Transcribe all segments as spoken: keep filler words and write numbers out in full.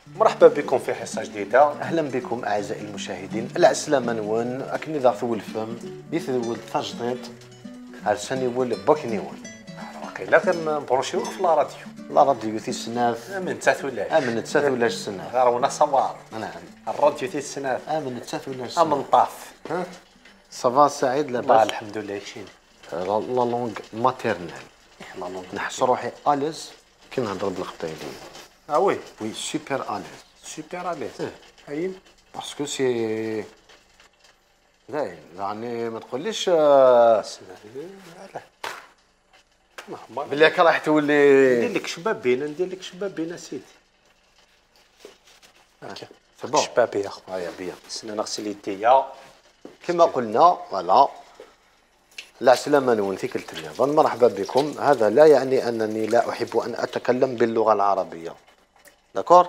مرحبا بكم في حصة جديدة. اهلا بكم اعزائي المشاهدين. العسلامة نون اكني ذا ثول الفم يثول تجديد عرساني ول بوكنيون واقيلا كنبروشيوك في لا راديو لا راديو تي السناف امن تسات ولاش امن تسات ولاش السناف غارونا صوار. نعم الراديو تي السناف امن تسات ولاش السناف امن طاف. ها صافا سعيد الله لاباس الحمد لله يشين لا لونغ ماتيرنال لا لونغ نحس روحي اليز كي نهضر بالقبطيلية. اه وي وي سوبر اليز سوبر اليز هاين باسكو سي داين يعني ما تقوليش لا بلي هكا راح تولي ندير لك شبابين ندير لك شبابين اسيدي هاكا سي بون شبابي يا خو. هيا بيان سنا نغسل يديا كما قلنا فوالا العسلامة نون في كل تليفون. مرحبا بكم. هذا لا يعني أنني لا أحب أن أتكلم باللغة العربية داكور،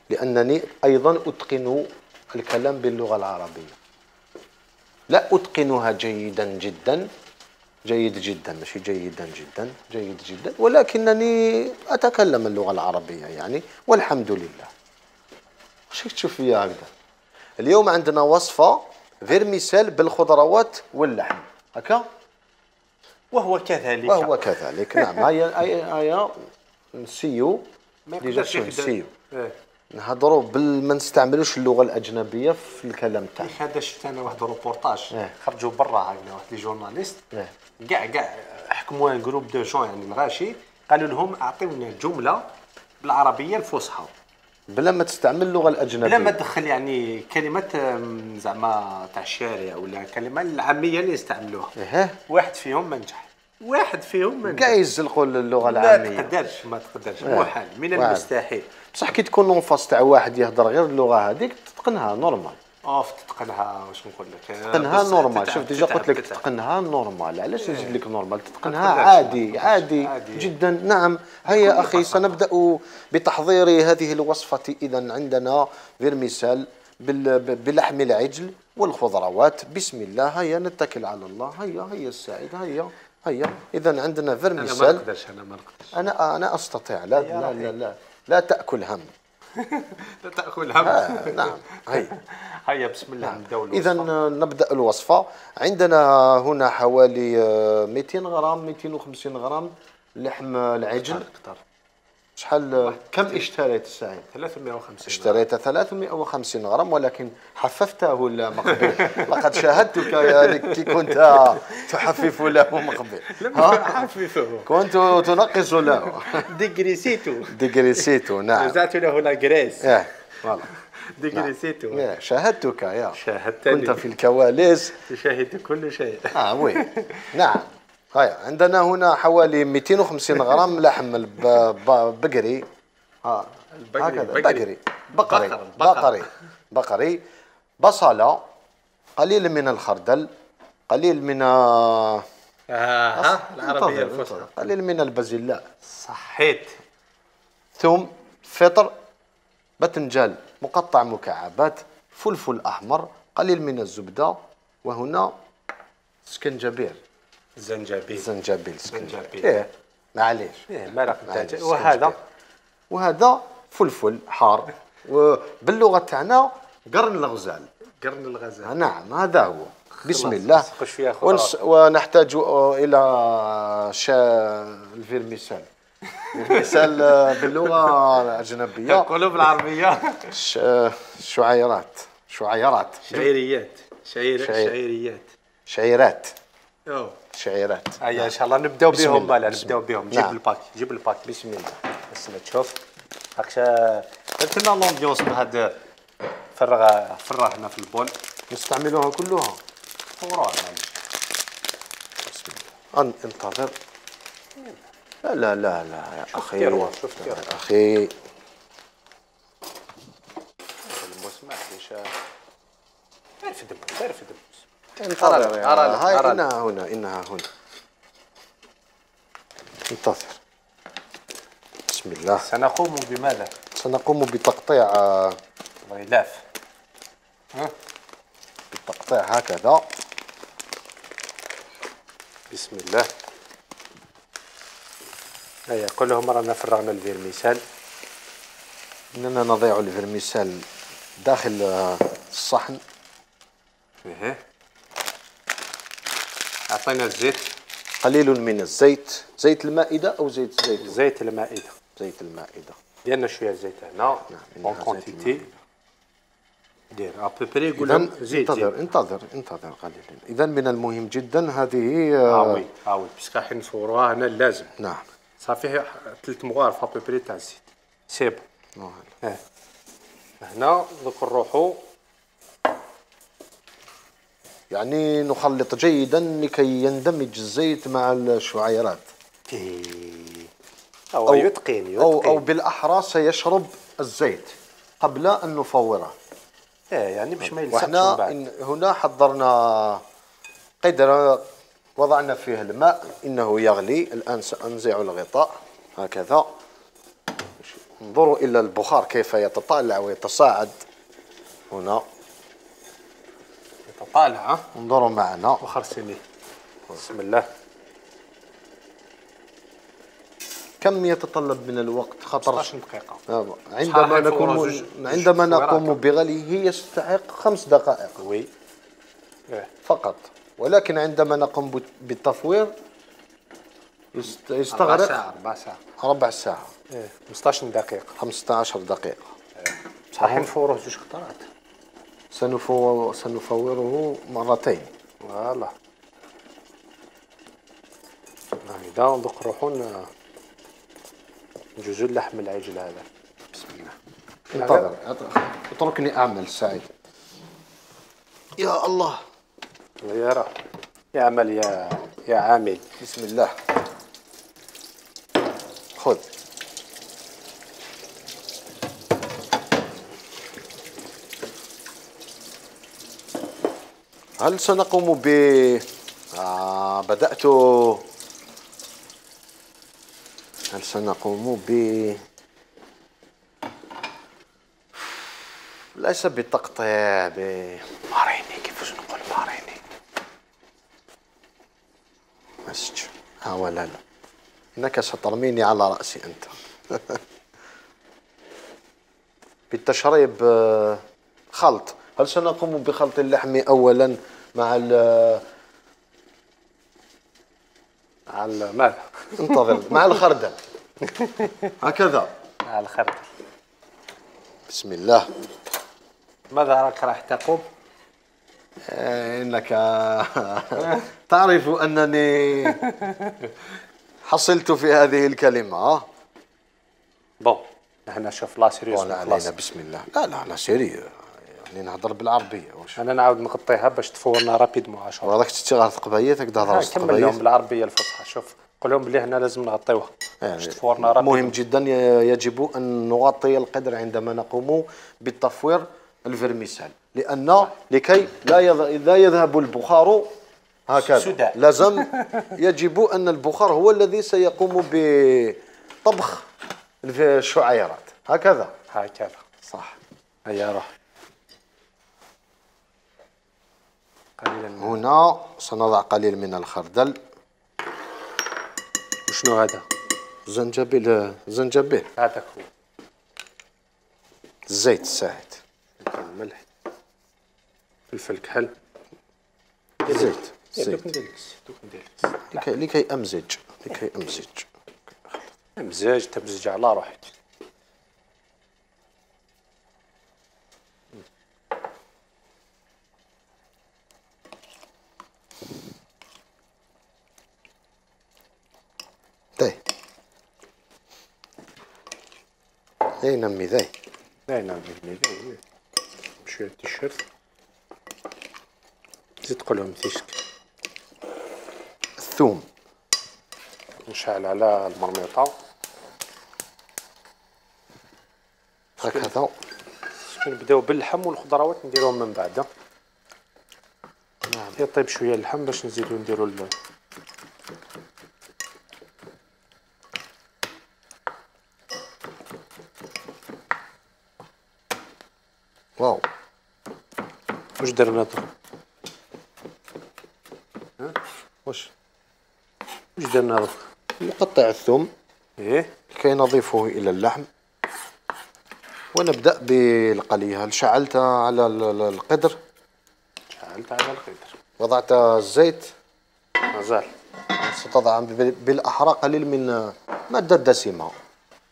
لأنني أيضا أتقن الكلام باللغة العربية، لا أتقنها جيدا جدا جيد جدا ماشي جيدا جدا جيد جدا، ولكنني أتكلم اللغة العربية يعني والحمد لله. واش تشوف فيا هكذا؟ اليوم عندنا وصفة فيرميسيل بالخضروات واللحم هكا، وهو كذلك وهو كذلك. نعم هيا هيا هيا نسيو ديجا شو نسيو نهضروا بال ما نستعملوش اللغة الأجنبية في الكلام تاعنا. هذا شفت انا واحد روبورتاج اه. خرجوا برا هكذا واحد لي جورناليست اه. كاع كاع حكموا ان جروب دو جون يعني الغاشي، قالوا لهم اعطيونا جمله بالعربيه الفصحى بلا ما تستعمل اللغة الأجنبية، بلا ما تدخل يعني كلمات أم، زعما تاع الشارع ولا كلمه العاميه اللي يستعملوها. ايه واحد فيهم ما نجح، واحد فيهم ما كاع نجح. يزلقوا اللغة ما العامية. تقدرش ما تقدرش اه. محال من واعر. المستحيل. بصح كي تكون اونفاس تاع واحد يهضر غير اللغة هذيك تتقنها نورمال. اوف تتقنها واش نقول لك تتقنها بصح نورمال. تتعب- شوف ديجا تتعب- قلت لك تتعب. تتقنها نورمال، علاش نزيد لك نورمال؟ تتقنها تقدرش، عادي ما تقدرش. عادي عادي. جدا. نعم هيا بكل اخي بساطة. سنبدا بتحضير هذه الوصفه. اذا عندنا فيرميسال بال- بلحم العجل والخضروات. بسم الله هيا نتكل على الله. هيا هيا السعيد هيا هيا. اذا عندنا انا ما فيرميسال. نقدرش انا ما نقدرش انا انا استطيع. لا يا لا رحيم. لا لا, لا تاكل هم. لا تاكل هم. آه نعم هيا هيا بسم الله نبداو إذا الوصفة. نبدأ الوصفة. عندنا هنا حوالي آه، مئتين غرام مئتين وخمسين غرام لحم العجل. اختار شحال كم اشتريت السعيد؟ ثلاثمائة وخمسين اشتريت ثلاثمائة وخمسين غرام، ولكن حففته له مقبل. لقد شاهدتك يعني كي كنت تحفف له مقبل. ها؟ حففه كنت تنقص له. ديغريسيتو ديغريسيتو. نعم وزعت له لا غريس ايه فوالا. ديغريسيتو. إيه، شاهدتك يا شاهدتني. كنت في الكواليس. تشاهد كل شيء. اه وي نعم. هيا عندنا هنا حوالي مئتين وخمسين غرام لحم البقري. اه البقري. هكذا بقري. بقري بقري بقر. بقر. بقري بقري بصلة، قليل من الخردل، قليل من آه اه العربيه انتظر، الفصحى انتظر. قليل من البازلاء، صحيت. ثوم، فطر، باذنجان مقطع مكعبات، فلفل احمر، قليل من الزبدة، وهنا سكنجبير. زنجبيل. زنجبيل زنجبيل. ايه معليش. ايه مرق معليش. دجاج. وهذا وهذا فلفل حار، وباللغه تاعنا قرن الغزال. قرن الغزال. نعم هذا هو. بسم خلاص، الله. خش فيها ونس ونحتاج الى شا الفيرميسال. الفيرميسال باللغه الاجنبيه يقولوا بالعربيه ش... شعيرات شعيرات شعيريات. شعير شعير. شعيريات. شعيرات اوه شعيرات. هيا ان شاء الله نبداو بسم بهم. الله. لا بسم نبداو الله. بهم. جيب نعم. الباك جيب الباك بسم الله. بس ما تشوف هاك درت لنا لومبيونس بهذا. فرغ فرغ هنا في البول نستعملوها كلها. فورا معليش. بسم الله. أن انتظر. لا لا لا لا يا أخي. تيروا، شوف تيروا. يا أخي الموس ما عنديش. عارف دبوس عارف دبوس. انتظر يا أرى لك، هاي أرى لك. إنها هنا إنها هنا. انتظر. بسم الله. سنقوم بماذا؟ سنقوم بتقطيع آه، غلاف. ها بالتقطيع هكذا. بسم الله. هيا كلهم رانا فرغنا الفيرميسال. اننا نضيع الفرميسال داخل الصحن. ايه عطينا الزيت، قليل من الزيت، زيت المائدة او زيت الزيتون؟ زيت المائدة. زيت المائدة. ديالنا شويه زيت هنا اون كونتيتي. دير ابوبري يقول لهم زيت. انتظر انتظر انتظر قليلا. اذا من المهم جدا هذه اه وي اه وي باسكو حين نصوروها هنا لازم. نعم صافي ثلاث مغارف ابوبري تاع الزيت سي بون. اه هنا دوك نروحو يعني نخلط جيدا لكي يندمج الزيت مع الشعيرات. أو, أو يتقين يتقين أو, أو بالأحرى سيشرب الزيت قبل أن نفوره. إيه يعني باش ما يلصقش. وإحنا بعد هنا حضرنا قدر وضعنا فيه الماء، إنه يغلي. الآن سأنزع الغطاء هكذا. انظروا إلى البخار كيف يتطالع ويتصاعد هنا. يتطالع. انظروا معنا. وخر سني. بسم الله. كم يتطلب من الوقت؟ خطر ستة عشر دقيقة. عندما نكون عندما نقوم بغليه يستحق خمس دقائق. وي. فقط، ولكن عندما نقوم بالتفوير يستغرق ربع ساعة ربع ساعة ربع ساعة. ايه خمسة عشر دقيقة. خمسة عشر دقيقة. بصح نفوروه زوج خطرات. سنفو سنفوره مرتين. فوالا. هكذا دوك نروحو نجوزو اللحم العجل هذا. بسم الله. انتظر اتركني اعمل سعيد. يا الله. يا راه يا عمل يا يا عامل. بسم الله. خذ. هل سنقوم ب آه بدأت هل سنقوم ب ليس بالتقطيع، ب ماريني. كيفاش نقول ماريني؟ مسج. ها ولا لا، انك سترميني على رأسي انت. بالتشريب خلط. هل سنقوم بخلط اللحم اولا مع ال مع ماذا؟ انتظر. مع الخردل هكذا. مع الخردل. بسم الله. ماذا راك راح تقوم؟ انك تعرف انني حصلت في هذه الكلمة. بون هنا شوف لا سيريوس علينا. بسم الله. لا لا لا سيري، يعني نهضر بالعربية. واش انا نعاود نغطيها باش تفورنا رابيدمون عشرة. وهذاك تشتغل ثقبية تقدر تهضر كمل لهم بالعربية الفصحى. شوف قول لهم بلي هنا لازم نغطيوها باش تفورنا رابيدمون. مهم جدا، يجب أن نغطي القدر عندما نقوم بالتفوير الفرميسال، لأن لكي لا لا يذهب البخار هكذا. لازم يجب أن البخار هو الذي سيقوم بطبخ الشعيرات هكذا. هكذا صح. هيا روح. قليلا هنا سنضع قليل من الخردل. وشنو هذا؟ زنجبيل. زنجبيل هذاك هو. الزيت الساعد. الملح. فلفل كحل. زيت. زيت. زيت. لكي لكي امزج لكي امزج امزج تمزج على روحك. ذي ذي نمي ذي ذي نمي ذي بشوية تيشيرت. زيد قولهم تيشك. الثوم نشعل على المرميطة هكذا. نبداو باللحم والخضروات نديروهم من بعد. نعم. يطيب شوية اللحم باش نزيدو نديرو ال واو. واش درنا درك؟ ها واش واش درنا درك؟ نقطع الثوم ايه لكي نضيفه الى اللحم ونبدأ بالقلي. هل شعلت على ال- ال- القدر؟ شعلت على القدر. وضعت الزيت؟ مازال. ستضع بال- بالأحرى قليل من مادة دسمة.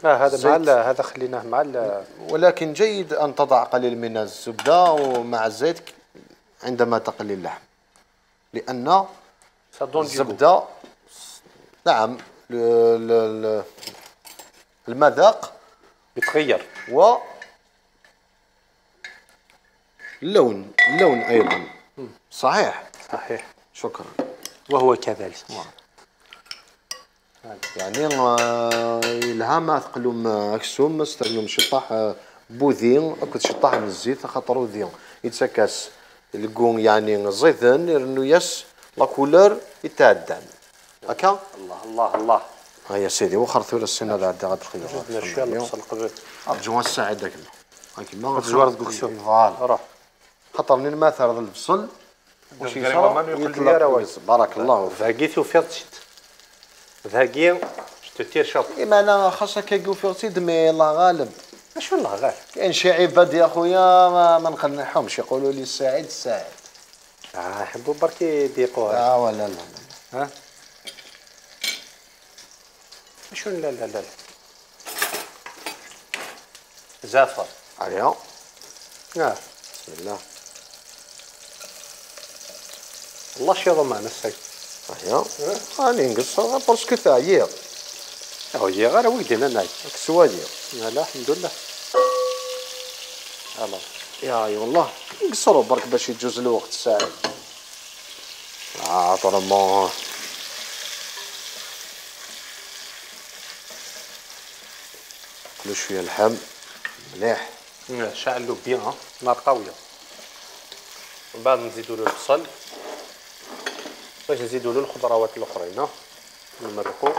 اه هذا مع الزيت. ال- هذا خليناه مع ال- ولكن جيد أن تضع قليل من الزبدة ومع الزيت عندما تقلي اللحم، لأن ça donne du goût. الزبدة نعم ل- ل- ل- المذاق يتغير. و اللون اللون أيضا. صحيح. صحيح. شكرا. وهو كذلك. يعني آه، الهامة ثقلهم أكسوم استعملوا شطاح آه، بوذين أكد شطاح من الزيت خاطر وذين يتسكاس الكون يعني زيتن لأنه يس لا كولور يتعدل هكا. الله الله الله. ها يا سيدي وخر ثور السنة هذا غادي جبنا شويه البصل قبل. أرجو الساعة داك هاكي ما الزوار تقولسو. فوالا روح. خاطر من ما ثار البصل وش قريبا يصرى ما يقول لي يطلق راه ويص- بارك الله فيك. فاقيتي وفرتشت. ذاكي تتير شاط. إما أنا خاصك كيقول في رصيد مي الله غالب. شو الله غير. كاين شي عباد يا خويا ما, ما نقنعهمش يقولوا لي السعيد السعيد. اه يحبوا برك يضيقوها. لا ولا لا ها. شو لا لا لا. زعفر. عليها. اه بسم الله. الله شيض معنا السيد. عليها. راني نقصها باسكو ثاير. هو هي غير ويدنا ناي. كسوادي. لا الحمد لله. الله. يا اي والله نقصروا برك باش يجوز الوقت الساعد. اه طالما كلو شويه اللحم مليح. شعلو بيان نار قويه. من بعد نزيدو له البصل باش نزيدو له الخضروات الاخرين نمرقو.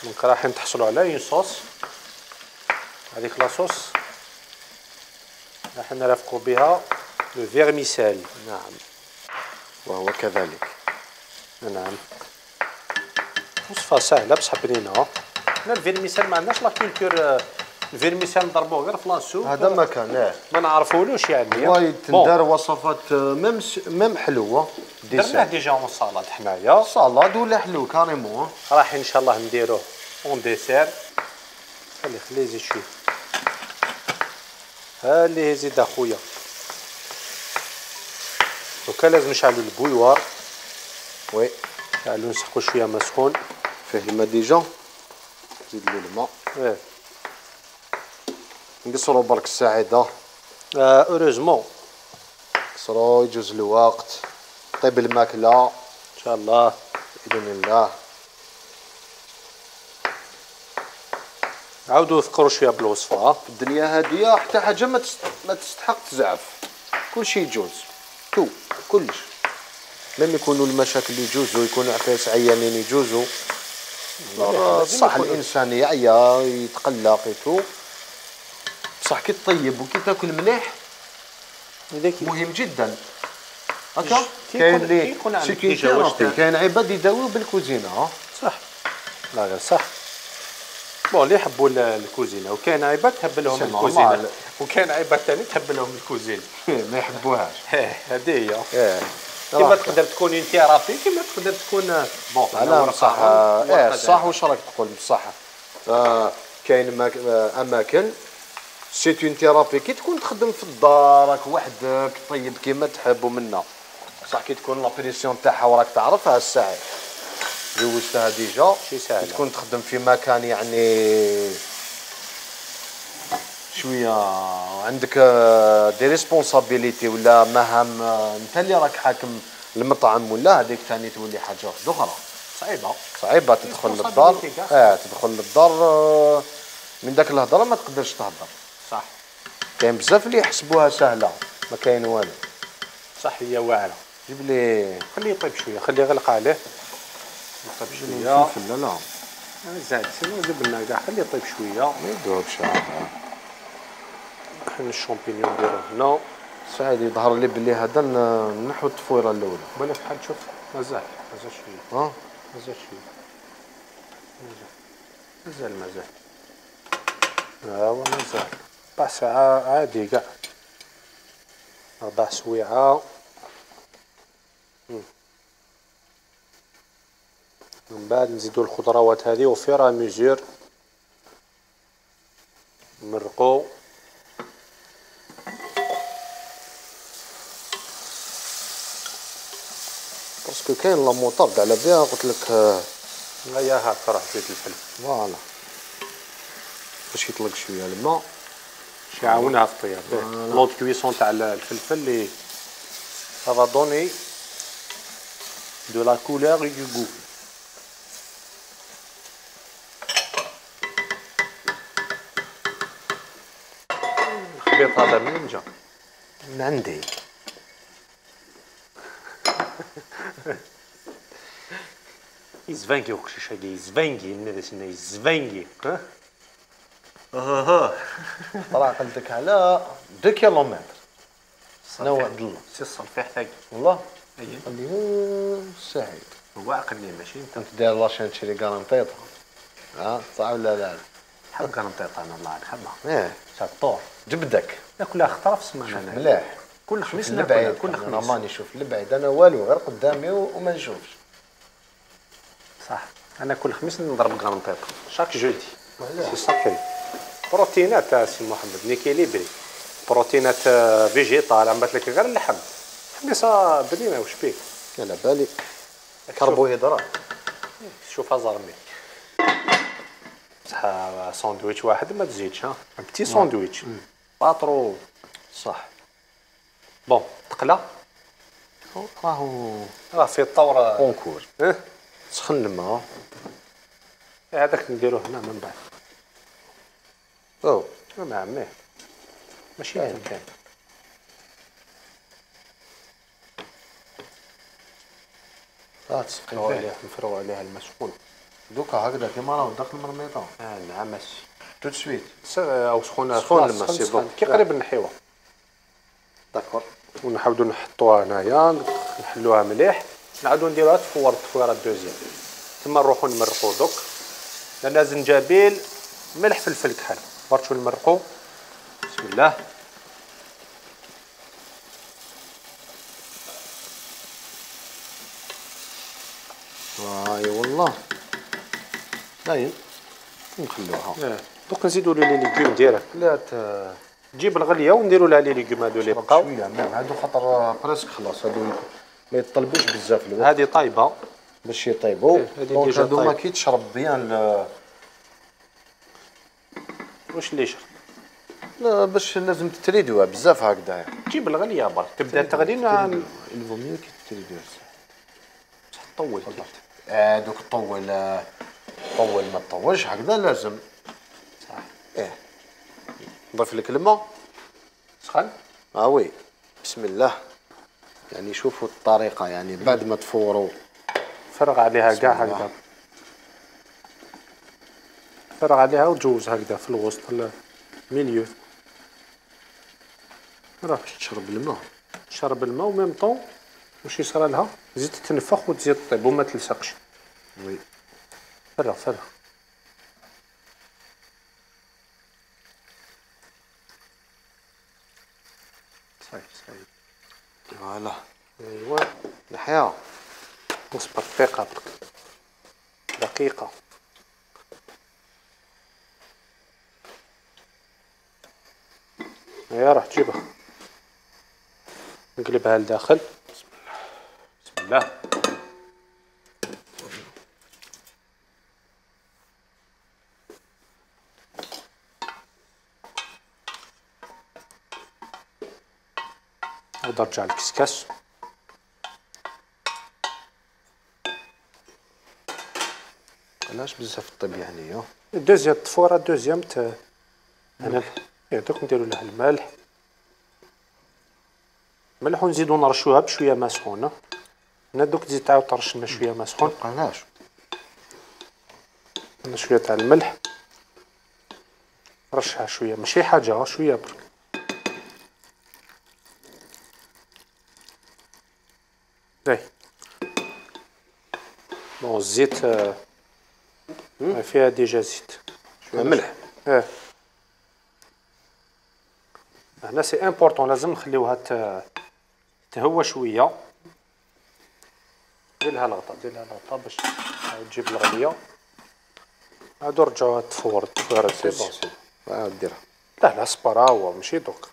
دونك رايحين تحصلوا على اون صوص. هذيك لاصوص راح نرافقوا بها لو فيرميسيل. نعم وهو كذلك. نعم وصفه سهله بصح بنينه. حنا الفيرميسيل ما عندناش لا كولتور. الفيرميسيل نضربوه غير في لاسوب. هذا ما كان اه ما نعرفولوش يعني. وايد تندار وصفات ميم ميم حلوه. درناه ديسير ديجا اون صالاد حنايا. صالاد ولا حلو كاريمون. راح ان شاء الله نديروه اون ديسير. خلي خليه يزيد شويه. ها اللي يزيد اخويا. دوكا لازم نشعلو البويوار. وي نشعلو نسحقو شويه ما سخون. فيه الماء ديجا. زيد له الماء. ايه نقصروا برك الساعده. اوروزمون قصروا يجوز الوقت. طيب الماكله ان شاء الله. باذن الله. عاودوا ذكروا شويه بالوصفه. في الدنيا هذه حتى حاجه ما تست... ما تستحق تزعف. كل شيء يجوز تو كلش. لم يكونوا المشاكل يجوزوا يكونوا عفايس عيانين يجوزوا. صح الانسان يعيا يتقلق يتو بصح كي تطيب وكي تاكل مليح مهم جدا. هكا كاين اللي كاين عباد يداويو بالكوزينه. صح لا غير صح. بون اللي يحبوا الكوزينه وكاين عباد تحب لهم الكوزينه وكاين عباد ثاني تحب لهم الكوزينه ما يحبوهاش. هذه هي. كيما تقدر تكون انت رابي كيما تقدر تكون بون لا بصح اه صح. واش راك تقول بصح آه كاين اماكن سي اون ثيرابي كي تكون تخدم في الدار راك وحدك طيب كيما تحب ومنا بصح كي تكون لابريسيون تاعها وراك تعرفها الساعه جوزتها ديجا شي ساهله. تكون تخدم في مكان يعني شويه عندك دي ريسبونسابيليتي ولا مهام انت اللي راك حاكم المطعم ولا هذيك ثاني تولي حاجه واحده اخرى صعيبه صعيبه. تدخل للدار اه تدخل للدار من داك الهضره ما تقدرش تهضر. صح. كاين بزاف اللي يحسبوها سهله ما كاين والو. صح هي واعره. جيب لي خليه يطيب شويه خليه يغلق عليه يطيب شويه. لا لا زاد سينو جيب لنا كاع خليه يطيب شويه ما يذوبش. حنا الشامبينيون نديروه هنا. سعيد يظهر لي بلي هذا نحو التفويره الاولى. بالك بحال تشوف مازال مازال شويه. ها مازال شويه. مازال مازال مازال. ها هو مازال ربع ساعة عادي كاع. ربع سويعة. من بعد نزيدو الخضروات هذه وفيرا ميزور نمرقو. باسكو كاين لا موطارد على بها قلت لك. هيا هاك راه زيد الفلفل فوالا باش يطلق شويه الماء باش يعاونها في الطياب. لوط كويسون تاع الفلفل لي سافا دوني دو لا كولور اي دو غو. الخليط هذا منين جا؟ من عندي. يزفانكي وكشيش هادي يزفانكي الناس هنا يزفانكي. ها ها طلع قلتك على دو كيلومتر. نوع الله سي الصلفيح تاعي والله. اييه اللي سعيد هو عقلني ماشي انت. انت داير لاشين تشري كارنطيطه. ها صح ولا لا؟ حب كنطيط انا الله نحبها. ايه شطور جبدك ناكلها خطره في السمانه انا. مليح. كل خميس شوف ناكلها البعيد كل انا خميس. راني نشوف البعيد انا والو غير قدامي وما نشوفش. صح انا كل خميس نضرب كرنطيط شاك جودي. مليح. سي ساكري. بروتينات تاع سي محمد نيكيليبري. بروتينات فيجيتال عملت لك غير اللحم. حميصه بنينه واش بيك؟ على بالي كربوهيدرات. شوفها زرمي. بصح ساندويتش واحد ما تزيدش ها. بتي ساندويتش باطرو. صح. بون تقلا راهو راه في الطور. كونكور. اه سخن الماء. هذاك نديروه هنا من بعد. او ما عميه ماشي كاين كاين. اه تسقي نفرغوا فيه عليها نفرغوا عليها الماء سخون. دوكا هكذا كيما راهو داخل المرميطه اه نعم ماشي تو سويت. او سخونه سخون خلاص، الماء، سخن سي سخن. بون. كي قريب نحيوها داكور. ونحاولوا نحطوها هنايا نحلوها مليح. نعاودوا نديروها تفور التفويره الدوزيام. ثم نروحوا نمرقوا دوك لان زنجبيل ملح فلفل كحل. برشو نمرقوا. بسم الله. اي والله باين نخلوها. اه دوك نزيدوا لي ليغوم ديالك. لا ت- جيب الغليه ونديروا لها لي ليغوم هادو اللي بقاو. شويه نعم هادو خاطر بريسك خلاص هادو ما يطلبوش بزاف الوقت هذه طايبه باش يطيبوا. إيه، هادي دونك ديجا هادو ما طايب. كي تشرب بيان ل- واش اللي يشرب. لا باش لازم تتريدوها بزاف هكذا. جيب الغليه برك تبدا تغلي نعم. الفو ميو كي تريدوها. طول اه دوك طول آه، طول ما تطولش هكذا لازم. صح. ايه نضيف لك الماء. سخن. اه وي بسم الله. يعني شوفوا الطريقه يعني بعد ما تفوروا فرغ عليها بسم كاع الله. هكذا. فرغ عليها وجوز هكذا في الوسط الميليو. راه تشرب الماء. شرب الماء وميم طون واش يصرى لها تزيد تنفخ وتزيد طيب وما تلصقش. وي فرغ فرغ. صحيح صحيح. فوالا ايوا نحيا. اصبر دقيقة برك. دقيقة. هيا راح تجيبها. نقلبها لداخل. بسم الله. نقدر نرجع الكسكاس. علاش بزاف الطيب يعني. الدوزيام الطفورة الدوزيام ت انا يا دوك نديرو لها الملح. ملح ونزيدو نرشوها بشوية ماء سخونة. انا دوك تزيد تعاود ترش لنا شوية ماء سخون. علاش انا شوية تاع الملح. رشها شوية ماشي حاجة شوية برك. زي بون الزيت آه، فيها ديجا زيت. ملح. اه هنا سي امبورطون، لازم نخليوها ت- تهوى شويه. ديرلها الغطاء، ديرلها الغطاء باش تجيب الغليه. عادو رجعوها تفور تفويرة سي دوزيام. بون سي عاد ديرها. لا لا سبارا هو ماشي دوك.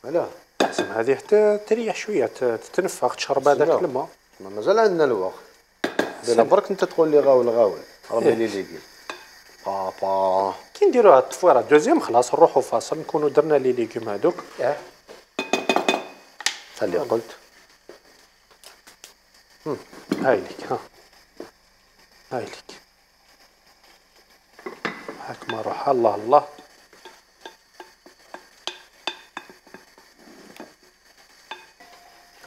علاه؟ لازم هذه حتى تريح شويه ت- تتنفخ تشرب هذاك سمعوا. الماء. ما مازال عندنا الوقت. دير برك انت تقول لي غاول غاول ربي إيه. لي ليغي بابا. كي نديروها التفويره دوزيام خلاص نروحو فاصل، نكونوا درنا لي ليغوم هذوك. اه اللي قلت. هاي ليك ها، هاي ليك هاك ما روح. الله الله.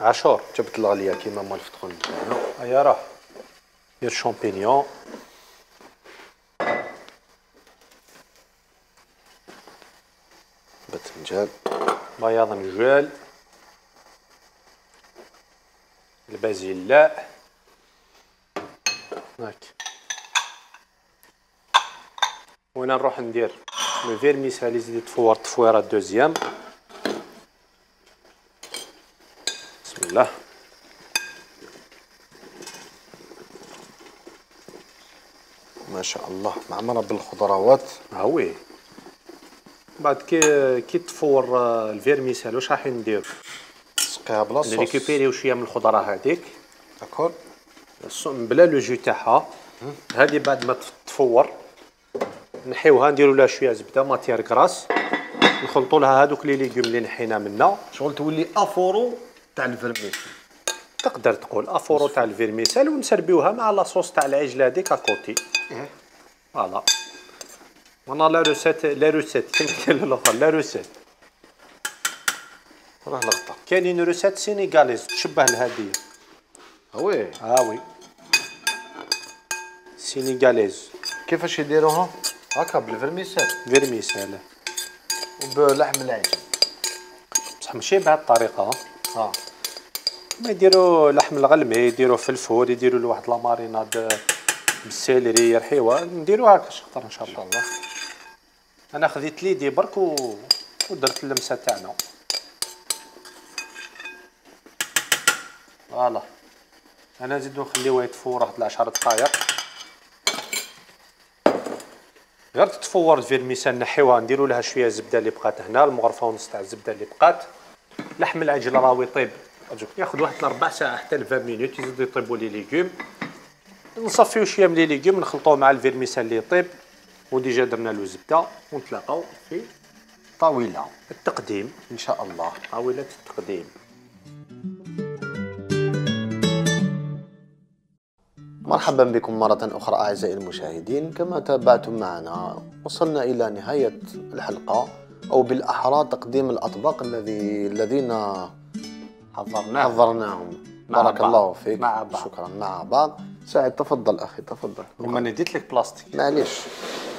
عاشور جبت الغليه كيما مال فتخون. هيا راه دير شامبينيون. باذنجان. بياض نجال. البازيلا هاك. وانا نروح ندير لو فيرميسالي زيد تفور تفويره دوزيام. بسم الله. ما شاء الله معمره بالخضروات. ها وي. بعد كي كي تفور آه، الفيرميسال واش راح ندير؟ تسقيها بلا صوص. نريكوبيريو شويه من الخضره هذيك داكور. بلا لو جو تاعها. هذه بعد ما تفور نحيوها نديروا لها شويه زبده ماتيير كراس، نخلطوا لها هذوك لي ليغوم اللي نحينا منا. شغل تولي افورو تاع الفرميسال. تقدر تقول افورو تاع الفيرميسال، ونسربيوها مع لاصوص تاع العجله هذيك اكوتي. فوالا. وانا لا روسيت لا روسيت كيما قال الاخر لا روسيت. راه لقطه. كاينين روسيت سينيغاليز تشبه لهذه. ها وي. ها وي سينيغاليز كيفاش يديروها؟ هكا بالفرميسال فيرميسال وبلحم العجل. بصح ماشي بهذه الطريقه. اه ما يديروا لحم الغلمي، يديروا فلفل، يديروا له واحد لاماريناد بالسيلري يرحيوها. نديروا هكا شطر ان شاء الله. الله. انا خذيت ليدي برك و... ودرت اللمسه تاعنا. فوالا. انا نزيدو نخليوها يتفور واحد العشر دقائق. غير تتفور الفيرميسال نحيوها نديروا لها شويه زبده اللي بقات هنا، المغرفه ونص تاع الزبده اللي بقات. لحم العجل راهو يطيب ياخذ واحد ربع ساعه حتى ل عشرين مينوت يزيدو يطيبوا لي ليغوم. نصفيو شويه من لي ليغوم نخلطوه مع الفيرميسال اللي يطيب، وديجا درنا له زبده، ونتلاقاو في طاوله التقديم ان شاء الله. طاوله التقديم. مرحبا بكم مرة أخرى أعزائي المشاهدين. كما تابعتم معنا وصلنا إلى نهاية الحلقة، أو بالأحرى تقديم الأطباق الذي الذين حضرناه حضرناهم. مع بارك بعض. الله فيك. مع بعض. شكرا. مع بعض. سعد تفضل أخي تفضل. لما نديت لك بلاستيك معليش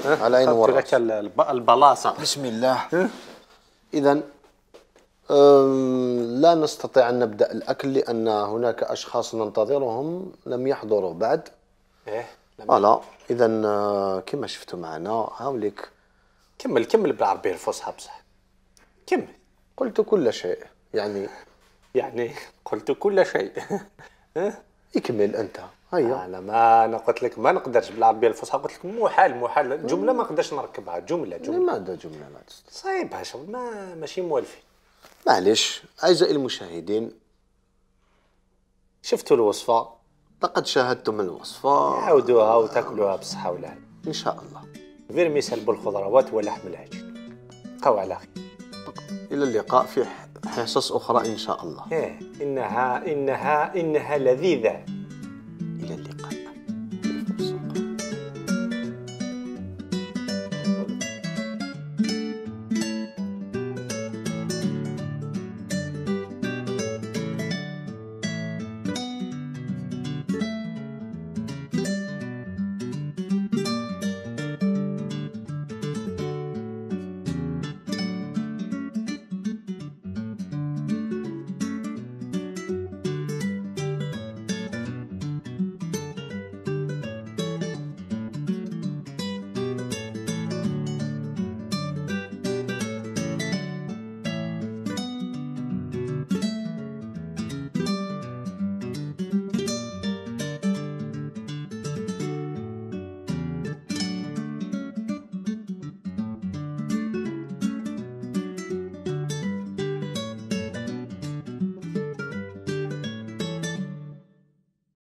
على عين خدت وراسي. لك الب- البلاصه. بسم الله. إذا لا نستطيع أن نبدأ الأكل لأن هناك أشخاص ننتظرهم لم يحضروا بعد. ايه فوالا. إذا كما شفتوا معنا هاوليك. كمل كمل بالعربيه الفصحى بصح. كمل. قلت كل شيء يعني. يعني قلت كل شيء. اكمل أنت. هيا. انا ما انا قلت لك ما نقدرش بالعربيه الفصحى، قلت لك محال محال جمله ما نقدرش نركبها. جمله جمله لماذا جملة ما تستطيع؟ صعيبها شغل ما ماشي موالفين. معليش أعزائي المشاهدين، شفتوا الوصفه، لقد شاهدتم الوصفة. عاودوها وتاكلوها بالصحه والهنا. إن شاء الله. فيرميسال بالخضروات ولحم العجل. بقاو على خير. إلى اللقاء في حصص أخرى إن شاء الله. ايه انها انها انها لذيذه.